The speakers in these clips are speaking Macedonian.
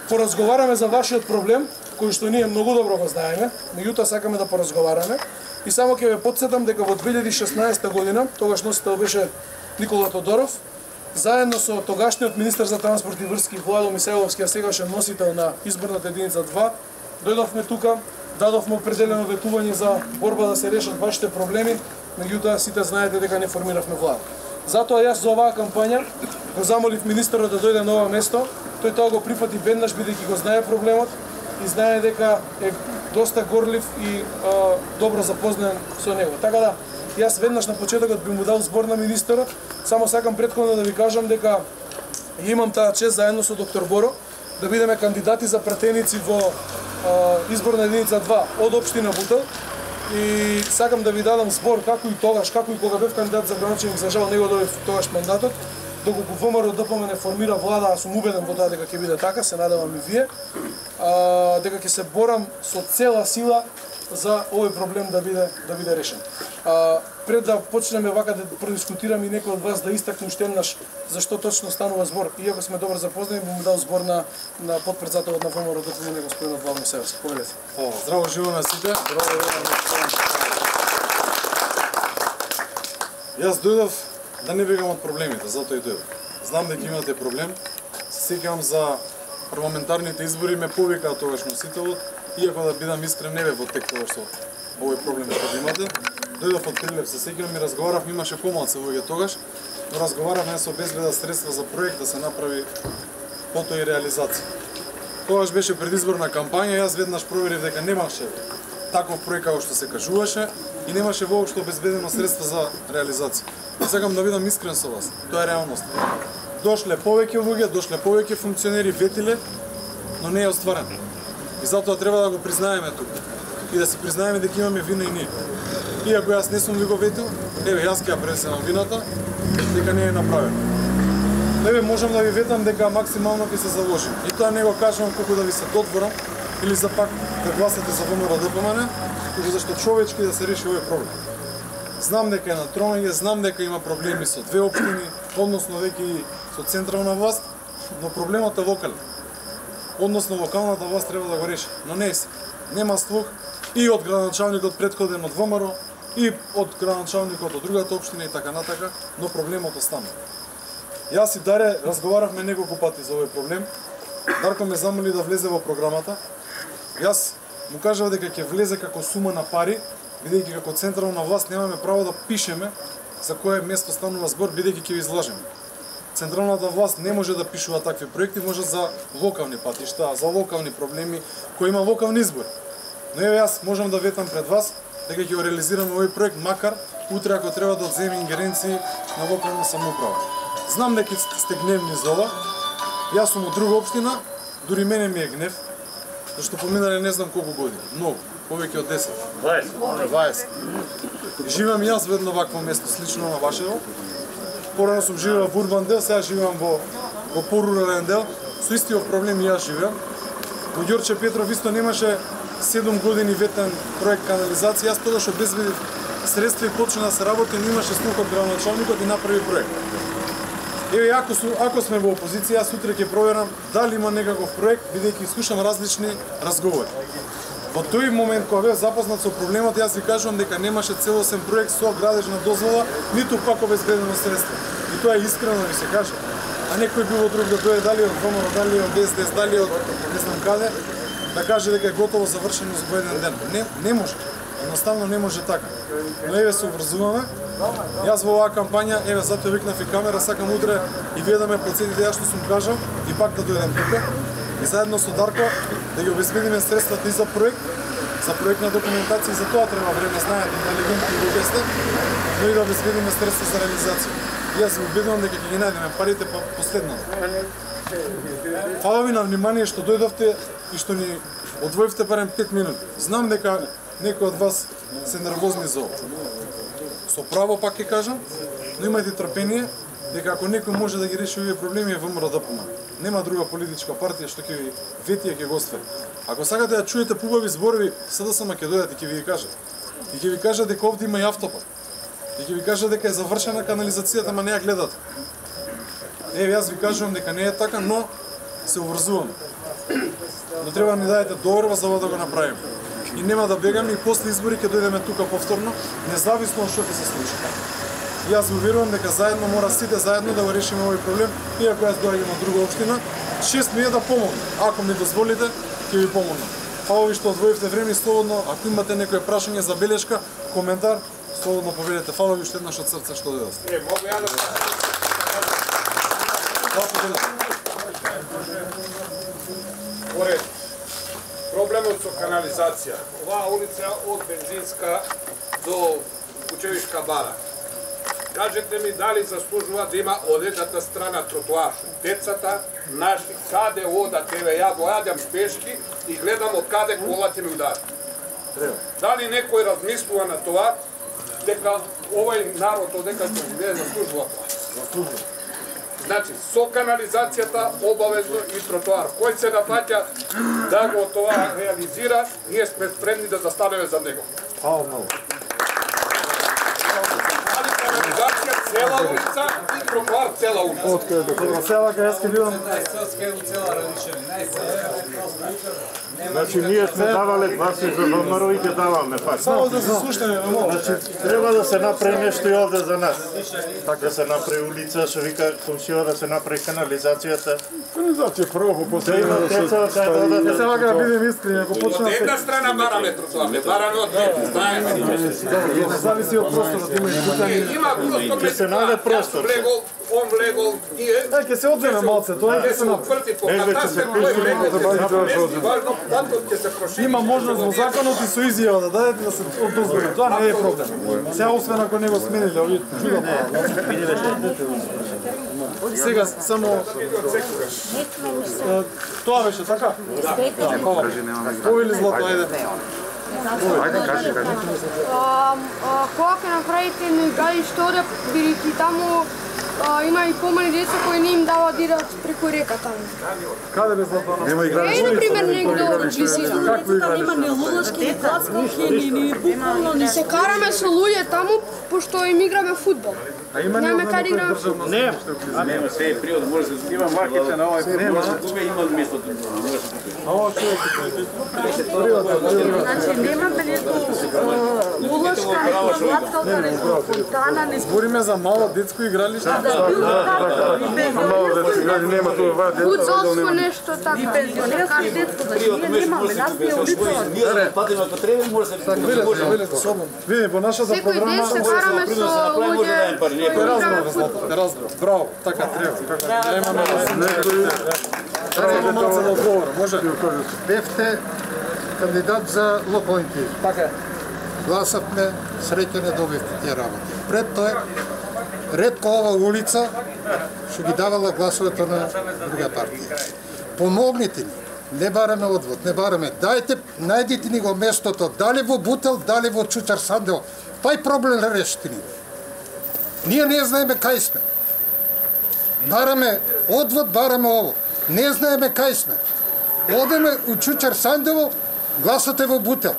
поразговараме за вашиот проблем, кој што ние многу добро го знаеме, меѓутоа сакаме да поразговараме. И само ќе ве потсетам дека во 2016 година, тогаш носител беше Никола Тодоров, заедно со тогашниот министер за транспорт и врски Владо Мисајловски, а сегашен носител на изборната единица 2, дојдовме тука, дадовме определено ветување за борба да се решат вашите проблеми, меѓутоа сите знаете дека не формиравме влада. Затоа јас за оваа кампања го замолив министерот да дојде на ова место. Тој тоа го прифати веднаш бидејќи го знае проблемот и знае дека е доста горлив и добро запознаен со него. Така да, јас веднаш на почетокот би му дал збор на министерот. Само сакам претходно да ви кажам дека имам таа чест заедно со доктор Боро да бидеме кандидати за пратеници во изборна единица 2 од општина Бутел. И сакам да ви дадам збор како и тогаш, како и кога бев кандидат за градоначелник, за жал не го добив тогаш мандатот, доколку ВМРО ДПМН формира влада, аз сум убеден во тоа дека ќе биде така, се надевам и вие, дека ќе се борам со цела сила за овој проблем да биде решен. Пред да почнеме вака да продискутираме и некој од вас да истакне уште еднаш зашто точно станува збор, иако сме добро запознати, би му дал збор на потпредседателот на ВМРО ДПМН господинот Владо Мисајловски. Повелете. Здраво живо на сите. Јас дојдов да не бегам од проблемите, затоа и дојдов. Знам дека имате проблем. Се сеќавам за парламентарните избори, ме повикаа тогаш носителот, иако да бидам искрен не бе во тек тогаш со овој проблем што имате. Дојдов од Прилеп, се сеќавам и разговаравме, имаше помалку луѓе тогаш, но разговаравме со обезбедат средства за проект да се направи потоа и реализација. Тогаш беше предизборна кампања, јас веднаш проверив дека немаше таков проект како што се кажуваше и немаше воопшто обезбедено средства за реализација. Сакам да бидам искрен со вас. Тоа е реалност. Дошле повеќе луѓе, дошле повеќе функционери, ветиле, но не е остварено. И затоа треба да го признаеме тука. И да си признаеме дека имаме вина и ние. Иако јас не сум ви го ветил, еве јас ќе ја пренесам вината, дека не е направено. Еве можам да ви ветам дека максимално ќе се заложим. И тоа не го кажувам колку да ви се додворам или за пак да гласате за ВМРО ДПМН, туку зашто човечки да се реши овој проблем. Знам дека е на тромење, знам дека има проблеми со две општини, односно веќе и со централна власт, но проблемот е локален. Односно локалната власт треба да го реши, но не се. Нема слух и од градоначалникот претходен од ВМРО, и од градоначалникот од другата општина и така натака, но проблемот останува. Јас и Даре разговаравме неколку пати за овој проблем. Дарко ме замоли да влезе во програмата. Јас му кажав дека ќе влезе како сума на пари, бидејќи како централна власт немаме право да пишеме за кое место станува збор, бидејќи ќе ви излажеме. Централната власт не може да пишува такви проекти, може за локални патишта, за локални проблеми, кои има локални избори. Но еве јас можам да ветам пред вас дека ќе го реализираме овој проект, макар утре ако треба да одземе ингеренции на локална самоуправа. Знам дека сте гневни за ова. Јас сум од друга општина, дури мене ми е гнев, зашто поминале не знам колку години, многу, повеќе од 10. 20. Живеам јас во едно вакво место, слично на вашето. Порано сум живеел во урбан дел, сега живеам во порурален дел. Со истиот проблем јас живеам. Во Ѓорче Петров исто немаше 7 години ветен проект канализација. Јас тогаш обезбедив средства и почна да се работи, но имаше слух од градоначалникот и направи проект. Еве, ако сме во опозиција, јас утре ќе проверам дали има некаков проект, бидејќи слушам различни разговори. Во тој момент кога бев запознат со проблемот, јас ви кажувам дека немаше целосен проект со градежна дозвола, ниту пак обезбедено средство. И тоа е искрено ви се каже. А некој било друг да дојде дали од ВМРО, дали од СДС, дали од не знам каде, да каже дека е готово завршено за еден ден. Не може. Едноставно не може така. Но еве се обврзуваме. Јас во оваа кампања, еве затоа викнав и камера, сакам утре и вие да ме подсетите ја што сум кажал и пак да дојдам тука. И заедно со Дарко да ги обезбедиме средствата и за проектна документација, и за тоа треба време, знаете, интелигентни луѓе сте, но и да обезбедиме средства за реализација. И јас се убедувам дека ќе ги најдеме парите последно. Фала ви на внимание што дојдовте и што ни одвоивте барем 5 минути. Знам дека некои од вас се нервозни за ова. Со право пак ќе кажам, но имајте трпение дека ако некој може да ги реши овие проблеми е ВМРО ДПМН. Нема друга политичка партија што ќе ви вети и ќе го оствари. Ако сакате да чуете пубави зборови, СДСМ ќе дојдат и ќе ви ги кажат. И ќе ви кажат дека овде има и автопат. И ќе ви кажат дека е завршена канализацијата, ама не ја гледате. Еве, јас ви кажувам дека не е така, но се обврзуваме. Но треба да ни дадете доверба за ова да го направиме. И нема да бегаме и после избори ќе дојдеме тука повторно, независно од што ќе се случи. Јас го верувам дека заедно мора сите заедно да го решиме овој проблем, иако јас доаѓам од друга општина, 6 ми е да помогнам. Ако ми дозволите, ќе ви помогнам. Фала ви што одвоивте време и слободно, ако имате некое прашање, забелешка, коментар, слободно поведете. Фала ви уште еднаш од срце што дојдовте. Могу ја да проблемот со канализација. Оваа улица од Бензинска до Кучевишка бара. Кажете ми дали заслужува да има од едната страна тротоар. Децата наши каде одат, еве ја го јадам пешки и гледам од каде колата ми удари. Дали некој размислува на тоа дека овој народ одека што живее заслужува тоа? Значи, со канализацијата обавезно и тротоар. Кој се нафаќа да го тоа реализира, ние сме спремни да застанеме за него. Али канализација цела улица и тротоар цела улица. Од села кај јас ке бидам. Значи ние сме давале гласи за ВМРО и ќе даваме пак. Само да се слушнеме, Значи треба да се направи нешто и овде за нас. Да се направи улица, што вика комшија, да се направи канализацијата. Канализација прво после Да има деца, да додат. Сега да бидем искрени, ако Од почнеме една страна бараме тротоар, не бараме од двете, знаеме. зависи од просторот, има и путање. Има Ќе се најде простор. Он влегол, ние... Ќе се одземе малце, тоа Ќе ќе се се направи. отврти по катастер, кој влегол. Важно, патот ќе се прошири. Има можност во законот и со изјава да дадете да се одозволи. Тоа не е проблем. Сега освен ако не го смениле овие чудо. Сега само тоа беше така? Повели злато, ајде. Кога ќе направите едно игралиште овде, бидејќи таму има и помали деца кои не им дава да идат преку река таму. Каде бе злато? Нема игралиште. Е, например, негде од близина. Какво игралиште? Нема ни лудачки, ни клацковки, ни буквално, ни Се караме со луѓе таму, пошто им играме фудбал. А има Немаме ни каде играме државно. Не, Нема се е приод, може да има марките на овој може да купи, има место да може да купи. Ова човек. Значи немаме нето лудачка, нито клацковка, нито фонтана, нито Збориме за мало детско игралиште. нема тоа. Фудзалско нешто така. и пензионерски детство, значи ние немаме, нас не е улица. Ние да патиме ако треба, може да се Велете, собом. Види, по нашата Секој програма ден се караме со луѓе. Те разбрав, Злато, те разбрав. Браво, така треба. Да имаме некој. Треба малце да одговора, може? Бевте кандидат за локалните. Така е. Гласавме, среќа не добивте тие работи. Пред тоа, ретко ова улица што ги давала гласовете на друга партија. Помогнете ни. Не бараме одвод, не бараме. Дајте, најдите ни го местото, дали во Бутел, дали во Чучар Сандево. Тај проблем решите ни. Ние не знаеме кај сме. Бараме одвод, бараме ово. Не знаеме кај сме. Одеме у Чучар Сандево, гласате во Бутел.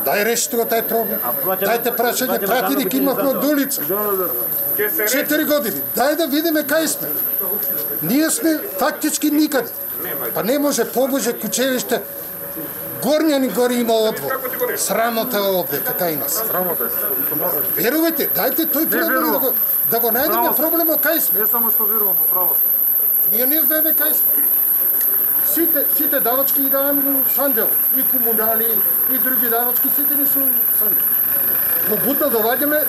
Дај решите го тај проблем. Дајте прашање, пратеник имавме од улица. 4 години. Дај да видиме кај сме. Ние сме фактички никаде. Па не може побоже Кучевиште. Горњани гори има одвод. Срамота е овде, кака има се. Срамота е. Верувате, дајте тој проблем да го најдеме проблемот кај сме. Не само што верувам во правост. Ние не знаеме кај сме. Сите давачки ги даваме во Сандево. И комунали, и други давачки, сите ни со Сандево. Во Бутел доваѓаме,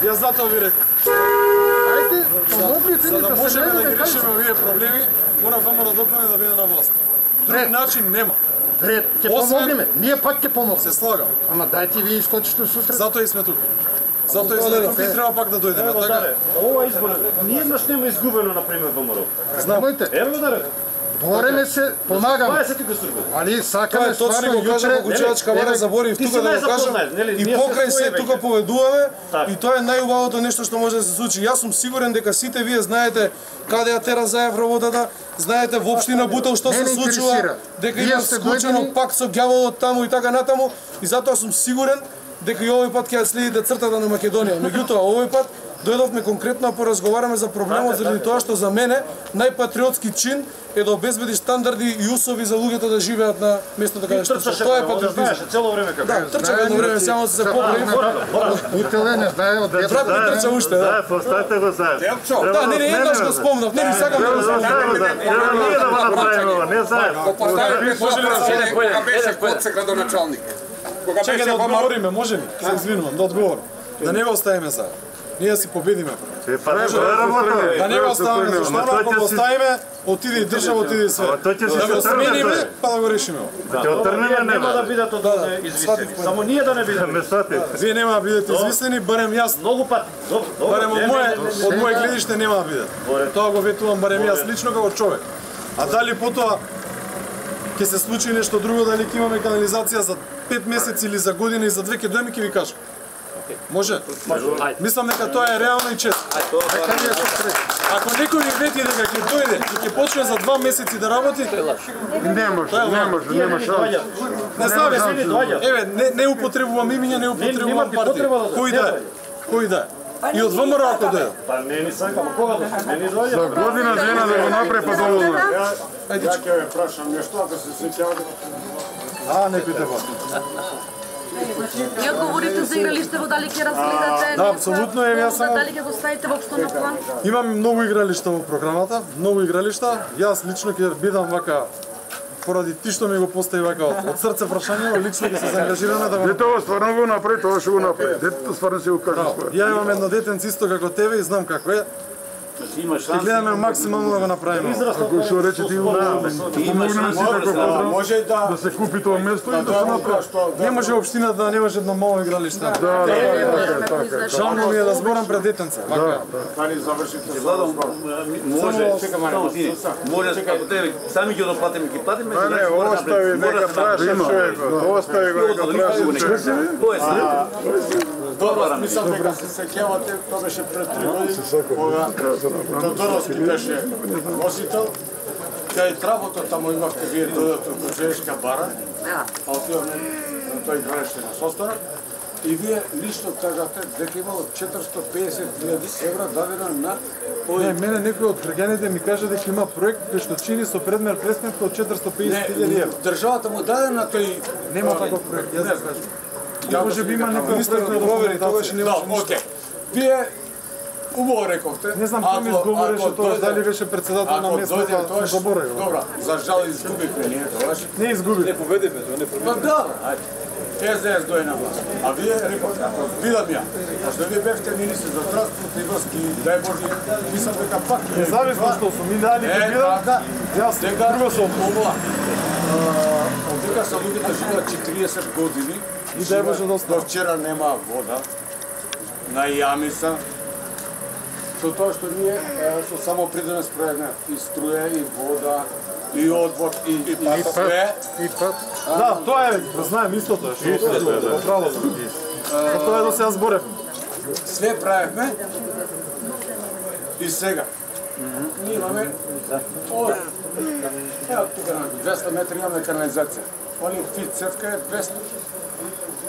Јас затоа ви реков. ајде, помогнете За ни да да се можеме да најдеме ги кај решиме сме. овие проблеми, мора ВМРО да биде на власт. Друг начин нема. Ред, ќе Освен- помогнеме. Ние пак ќе помогнеме. Се слагам. Ама дајте ви искочите сусрет. Затоа и сме тука. Затоа и сме тука и треба пак да дојдеме, така? Ова избор, ниеднаш нема изгубено, например, во ВМРО. Знамојте, Ево да рекам. бореме се, помагаме. 20 го стргува. Али Тоа сакаме е точно стварно го кажа во Кучевачка бара, заборив ти тука си да го кажам. најзапознат, нели? И Ние покрај се се своје тука веќе. поведуваме Така. и тоа е најубавото нешто што може да се случи. Јас сум сигурен дека сите вие знаете каде ја тера заевра водата, знаете во општина Бутел што се Не ме случува, интересира. дека Вие има сте склучено дојдени- пак со ѓаволот таму и така натаму и затоа сум сигурен дека и овој пат ќе ја следите цртата на Македонија. Меѓутоа овој пат дојдовме конкретно да поразговараме за проблемот заради тоа што за мене најпатриотски чин е да обезбедиш стандарди и усови за луѓето да живеат на местото каде што се. Тоа е патриотизм. Цело време како. Да, трча едно време само се поправи. Утеле не знае од Брат ми трча уште, да. Поставете го заедно. Да, не еднаш го спомнав, не сакам да го спомнам. Ние да го направиме, не заедно. Поставите прашање кога беше Коцек градоначалник. Кога Чекај беше да во одговориме, може ли? Се извинувам, да одговорам. Да не го оставиме за. Ние си победиме. Да не го оставиме, зашто ако го оставиме, отиде и држава, отиде и све. Да го смениме, па да го решиме. Ќе отрнеме, нема да бидат извисени. Само ние да не бидеме. Вие нема да бидете извислени, барем јас. Многу пати. Барем од моје гледиште нема да бидат. Тоа го ветувам барем јас лично како човек. А дали потоа ќе се случи нешто друго, дали ќе имаме канализација за 5 месеци или за година и за 2 ќе дојме ќе ви кажам. Може? Мислам дека тоа е реално и честно. Ако некој ви вети дека ќе дојде и ќе почне за 2 месеци да работи, Не може шанс. не знам, еве, не употребувам имиња, не употребувам партија. Кој да е? И од ВМРО ако дојде. Па не ни сакам, кога да се не доаѓа. За година жена да го направи па доволно. Ја ќе ве прашам нешто, ако се сеќавате. Некој те бас. Ја говорите за игралиштево, дали ќе разгледате? Да, апсолутно е, јас само Дали ќе го ставите воопшто на план? имам многу игралишта во програмата, многу игралишта. Јас лично ќе бидам вака поради ти што ми го постави вака од срце прашање, лично ќе се заангажираме да го. Тоа стварно го направи, тоа ќе го направи. Детето стварно се го кажа. Ја имам едно детенце исто како тебе и знам како е. Има И шанс. гледаме максимално да го направиме. Ако што рече ти го помогнеме сите како подром, Може да се купи тоа место и да се направи. Не може општината да немаше едно мало игралиште. Така. Жално ми е да зборам пред детенце. Вака. Дали завршите? Владо, може, може, ако те сами ќе доплатиме, ќе платиме. Не, остави нека праша човек. Остави го нека праша човек. Тоа е Добро, мислам дека се сеќавате, тоа беше пред 3 години, кога Тодоровски беше носител, кај травото таму имавте вие додато Куджеешка бара, а отиваме на тој игралиште на Состора, и вие лично кажате дека имало 450.000 евра дадено на Не, мене некој од граѓаните ми кажа дека има проект кој што чини со предмер пресметка од 450.000 евра. државата му даде на тој... Нема таков проект, јас да кажам. Може би има некој министер кој провери, тогаш не може ништо. Океј. Вие убаво рековте. Не знам кој ми изговореше тоа, дали беше председател на местната, тоа заборавив. Добра, за жал изгубивме ние тогаш. Не изгуби. Не победиме, тоа не победиме. Па да, ајде. СДС дојде на власт. А вие рековте, ако видам ја, пошто вие бевте министри за транспорт и врски, дај Боже, мислам дека пак... Независно што сум, ми дали ќе бидам, јас друго сум. Дека са луѓето живеат 40 години, И дај Боже да до вчера нема вода, на јами са, со тоа што ние со само придеме справеме и струја, и вода, и одвод, и све. Да, тоа е, знаем истото, што право сум. Тоа е до сега зборев. Све правевме и сега. Ние имаме ево тука на 200 метри имаме канализација. Они фит цевка е 200.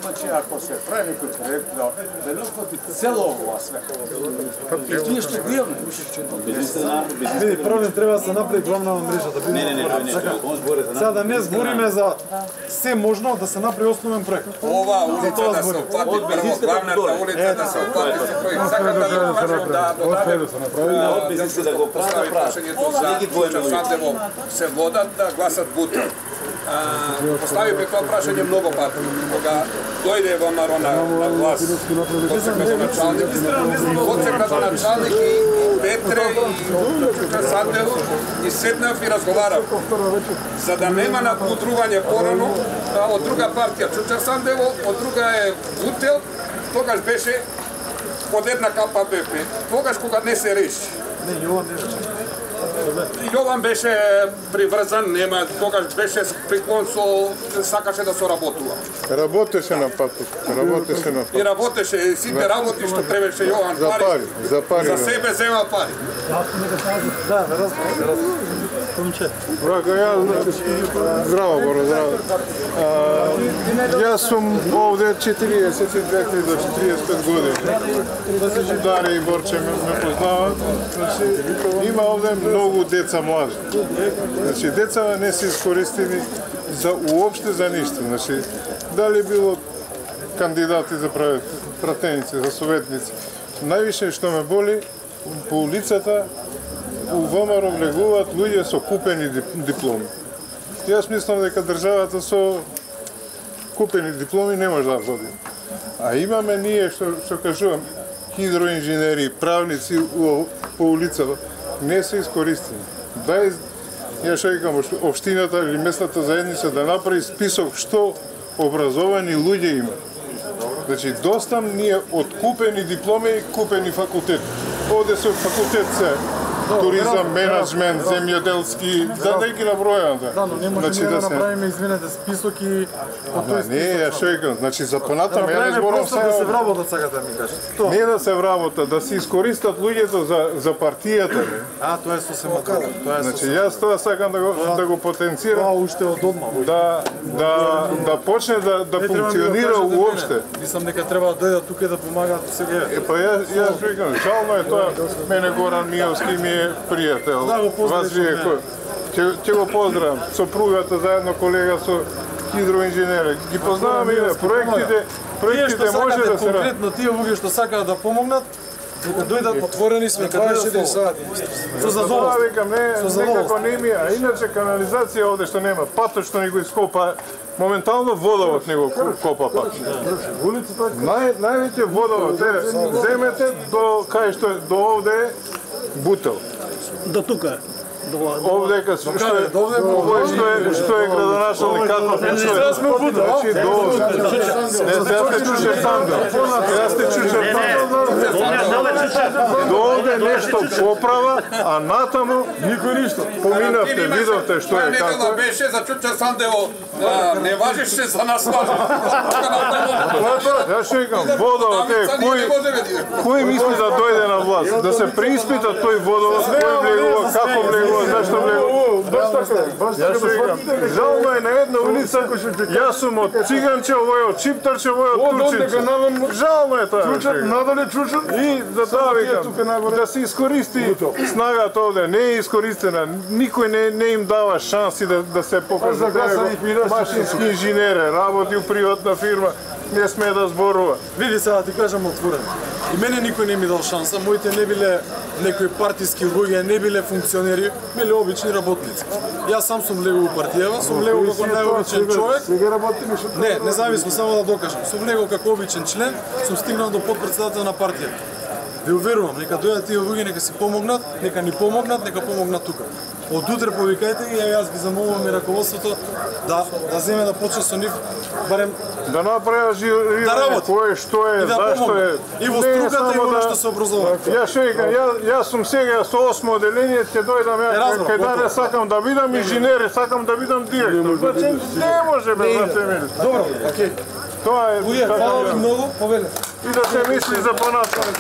Значи, ако се прави некој проект да не охвати цело ова све. И тие што гледаме. Види, прво треба да се направи главна мрежа, да биде. Не, Сега да не збориме за се можно да се направи основен проект. Ова улица да се оплати прво, главната улица да се оплати со проект. Сакам да кажам да додадем да го постави прашањето за Сандево се водат да гласат Бутел. Поставивме тоа прашање многу пати. Кога дојде во Марона на глас Коцек градоначалник и Петре и Сандево и седнав и разговарав. За да нема надмутрување порано од друга партија Чучар Сандево, од друга е Бутел, тогаш беше под една капа БП. Тогаш кога не се реши. Јован беше приврзан, нема, тогаш беше приклон со, сакаше да соработува. Работеше на патот, работеше на патот. И работеше, сите работи што требаше Јован За пари. за себе зема пари. Да, разбрав. Здраво, Боро, здраво. Јас сум овде 42 до 45 години. Даре и Борче ме познават. Има овде многу деца млади. Деца не се искористени за уопште за ништо. Дали било кандидати за пратеници, за советници. Највише што ме боли, по улицата у ВМРО влегуваат луѓе со купени дипломи. Јас мислам дека државата со купени дипломи не може да води. А имаме ние, што кажувам, хидроинженери, правници по улицата, не се искористени. Ја што викам, општината или местната заедница да направи список што образовани луѓе има. Значи, доста ние откупени дипломи и купени факултет. Овде се факултет се туризам, менеджмент, земјоделски, да ги набројам. Да, но не може да направиме, извинете, список и од тој список. Не, ја што викам, значи за понатам ја не зборам сега. Да се вработат, сакате да ми кажете. Не да се вработат, да се искористат луѓето за партијата. Тоа е сосем около. Значи јас тоа сакам да го потенцирам. Тоа уште од одма. Да почне да функционира уопште. Мислам дека треба да дојдат тука да помагаат сега. Па јас викам, жално е тоа, мене Горан Миовски ми е пријател. Вас вие ќе го поздравам. Сопругата заедно колега со хидроинженери. Ги познаваме и проектите може да се конкретно тие луѓе што сакаат да помогнат, дека дојдат отворени сме 24 сати. Со задоволство викам, некако не ми, а иначе канализација овде што нема, патот што ни го ископа, моментално водовод не го копа пат. Највеќе водовод е, земете до кај што е, до овде бутел. До тука. Овде што е градоначалник како Сега сме бутел. Јас те чуше сандал. Јас те чуше сандал. До овде нешто поправа, а натаму никој ништо. Поминавте, видовте што е како. Некада беше за чуче сандео, не важеше за нас важи. Јас што викам, водовод е, кој мисли да дојде на власт? Да се преиспита тој водовод, кој влегува, како влегува, зашто влегува. Јас што викам, жално е на една улица, јас сум од Циганче, овој од Чиптарче, овој од Турчинче. Жално е тоа. Надале чучат. И за тоа викам, да се искористи снагата овде, не е искористена, никој не им дава шанси да се покажат. Машински инженери, работи у приватна фирма, не смее да зборува. Види сега да ти кажам отворено. И мене никој не ми дал шанса, моите не биле некои партиски луѓе, не биле функционери, биле обични работници. Јас сам сум влегол у партијава, сум влегол како најобичен човек. Сега работи Не, независно, само да докажам. Сум влегол како обичен член, сум стигнал до подпредседател на партијата. Ви уверувам, нека дојдат тие луѓе, нека си помогнат, нека ни помогнат, нека помогнат тука. Од утре повикајте ги, јас ги замолувам и раководството да земе да почне со нив барем да направи жирирање кој што е, зашто е. И во струката и во што се образува. Јас што викам, јас сум сега со 8 оделение, ќе дојдам кај Даре, сакам да видам инженери, сакам да видам директор. Значи не може бе, брате мили. Добро, окей. Тоа е. Луѓе, фала ви многу, повеле. И да се мисли за понатаму.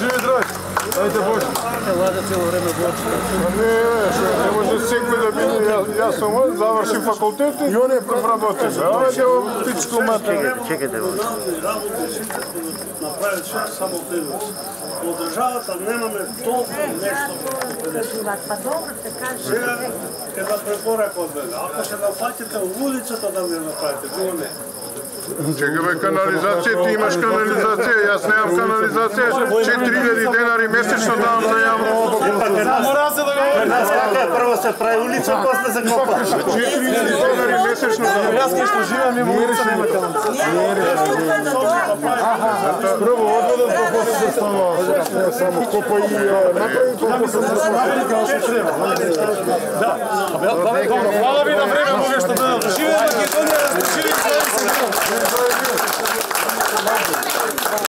Живи здрави. Ајде Боже. Лада цело време Боже. Не може секој да биде. Јас сум завршив факултет и он е работи. Ајде во пичку матер. Чекайте. Направи само превоз. Од државата немаме толку нешто. Па добро се каже. Сега една препорака од мене. Ако се нафатите у улицата да не направите, друго не. Чекаме канализација, ти имаш канализација, јас немам канализација, 4000 денари месечно давам за јавно. Мора се да го Како прво се прави улица, после се копа. 4000 денари месечно давам. Јас кај што живеам има улица, нема канализација. Прво одводот по после се станува. Само копа и направи Фала ви на време,